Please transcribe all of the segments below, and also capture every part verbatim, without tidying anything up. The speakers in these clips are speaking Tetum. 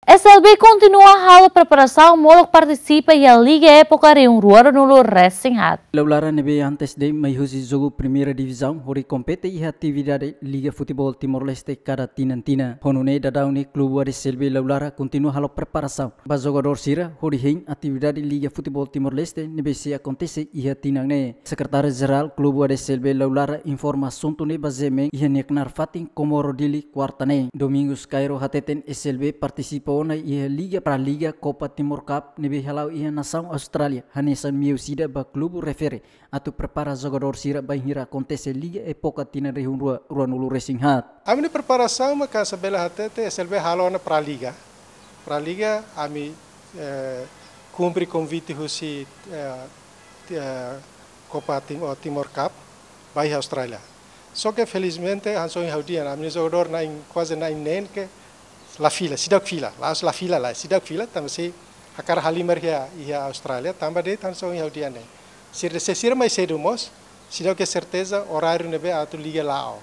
S L B kontinua halo preparasaun molok partisipa iha Liga époka rihun rua ruanulu resin haat. Lalara ne'ebé antes de'it mai husi jogu Primeira Divizaun hodi kompete iha atividade Liga Futeból Timor-Leste kada tinan-tinan. Ho nune'e daudaun ne'e klube A D S L B Lalara kontinua halo preparasaun ba jogadór sira hodi hein atividade Liga Futeból Timor-Leste ne'ebé sei akontese iha tinan ne'e. Sekretáriu Jerál Klube A D S L B Lalara informa asuntu ne'e ba G M N iha nia knaar fatin Comoro Daily kuarta ne'e. Domingos Cairo hateten S L B partisipa ona iha Liga Prá-Liga Copa Timor Cup ne'ebé hala'o iha nasaun Austrália, hanesan meiu ida ba klube refere atu prepara jogadór sira bainhira akontese Liga époka tinan rihun rua ruanulu resin haat. Ami-nia preparasaun mak hanesan bele hatete S L B halo ona Prá-Liga. Prá-Liga ami, eh, kumpre konvite husi, eh, ti-, eh, Copa Tim-, oh, Timor Cup, ba iha Austrália. Só ke felizmente, hanesan ohin ha'u dehan, ami-nia jogadór na'in, kuaze na'in neen ke la fila, seidauk fila, la'ós la fila lae, seidauk fila, tanba sei hakarak halimar iha, iha Austrália, tanba de'it hanesan ohin ha'u dehan ne'e. Sira, se sira mai sedu mós, seidauk iha serteza oráriu ne'ebé atu liga la'o.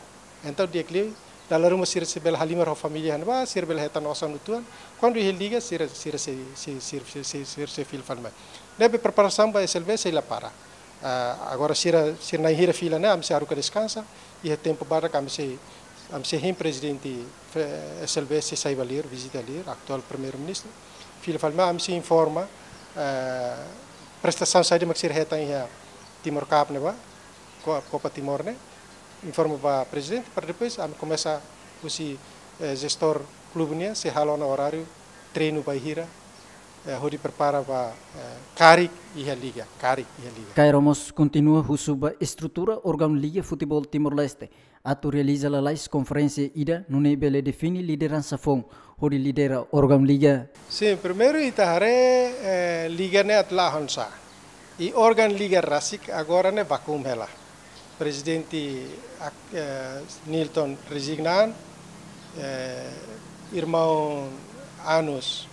Entaun di'ak liu, dala ruma sira sei bele halimar ho família iha ne'ebá, sira bele hetan osan uitoan. Kuandu iha liga, sira, sira sei, sei, sira, sira, sira, sira sei fila fali mai. Ne'ebé preparasaun ba S L B sei la para. Ah, agora sira, sira na'in hira fila ne'e, ami sei haruka deskansa, iha tempu badak ami sei, ami sei hein prezidente, eh, S L B sei sai ba Lira, vizita Lira, atuál Primeiru-Ministru. Fila fali mai, ami sei informa, eh, prestasaun saida mak sira hetan iha Timor Cup ne'ebá, Ko-, Copa Timor ne'e, informa ba prezidente, para depois ami komesa husi, eh, jestór klube nian, sei halo ona oráriu treinu bainhira, eh, hodi prepara ba, eh, karik iha liga, karik iha liga. Cairo mós kontinua husu ba estrutura órgaun Liga Futeból Timor-Leste atu realiza lalais konferénsia ida nune'e bele define lideransa foun hodi lidera órgaun liga. Sin, primeiru ita haree, eh, liga ne'e atu la'o oinsá. I órgaun liga rasik agora ne'e vakuum hela. Prezidente ak-, eh, Nilton rezigna an, eh, irmaun Anus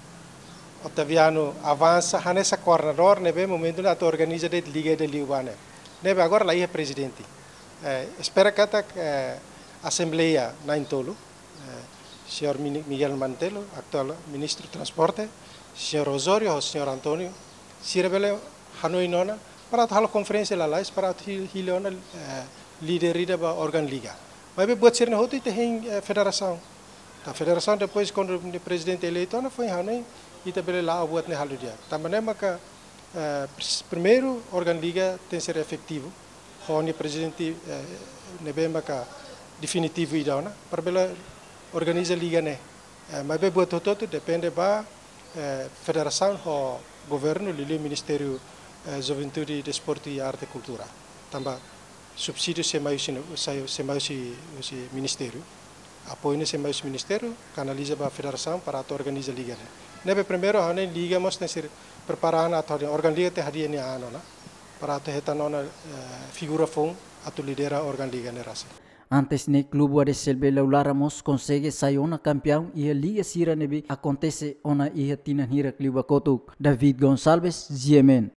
Otaviano avansa hanesan koordenadór ne'ebé momentu ne'e atu organiza de'it liga ida liubá ne'e. Ne'ebé agora la iha prezidente. Eh, espera katak, eh, asembleia na'in-tolu, eh, señór Mini-, Miguel Manetelu, atuál Ministru Transporte, señór Osório ho señór António, sira bele hanoin ona, para atu halo konferénsia lalais, para atu hi-, hili ona, eh, líder ida ba órgaun liga. Maibé buat sira-ne'e hotu ita hein, eh, federasaun. Tanba federasaun depois kuandu prezidente eleitu ona foin hanoin, ita bele la'o buat ne'e halo di'ak. Tanba ne'e maka, eh, pris-, primeiru órgaun liga tenke ser efetivu. Ho nia prezidente, eh, ne'ebé maka definitivu ida ona, para bele organiza liga ne'e. Eh, maibé buat hotu-hotu depende ba, eh, federasaun ho governu, liuliu Ministériu, eh, Juventude, Desportu i Arte Kultura. Tanba subsídiu sei mai husi, sei, sei mai husi, husi ministériu. Apoiu ne'e sei mai husi ministériu, kanaliza ba federasaun para atu organiza liga ne'e. Ne'ebé primeiru, ha'u hanoin liga mós tenke ser prepara ona atu hadi'a, órgaun liga tenke hadi'a nia an ona, para atu hetan ona, eh, figura foun atu lidera órgaun liga ne'e rasik. Antes ne'e klube A D S L B Lalara mós konsege sai ona kampiaun iha liga sira ne'ebé akontese ona iha tinan hirak liubá kotuk. David Gonçalves, G M N.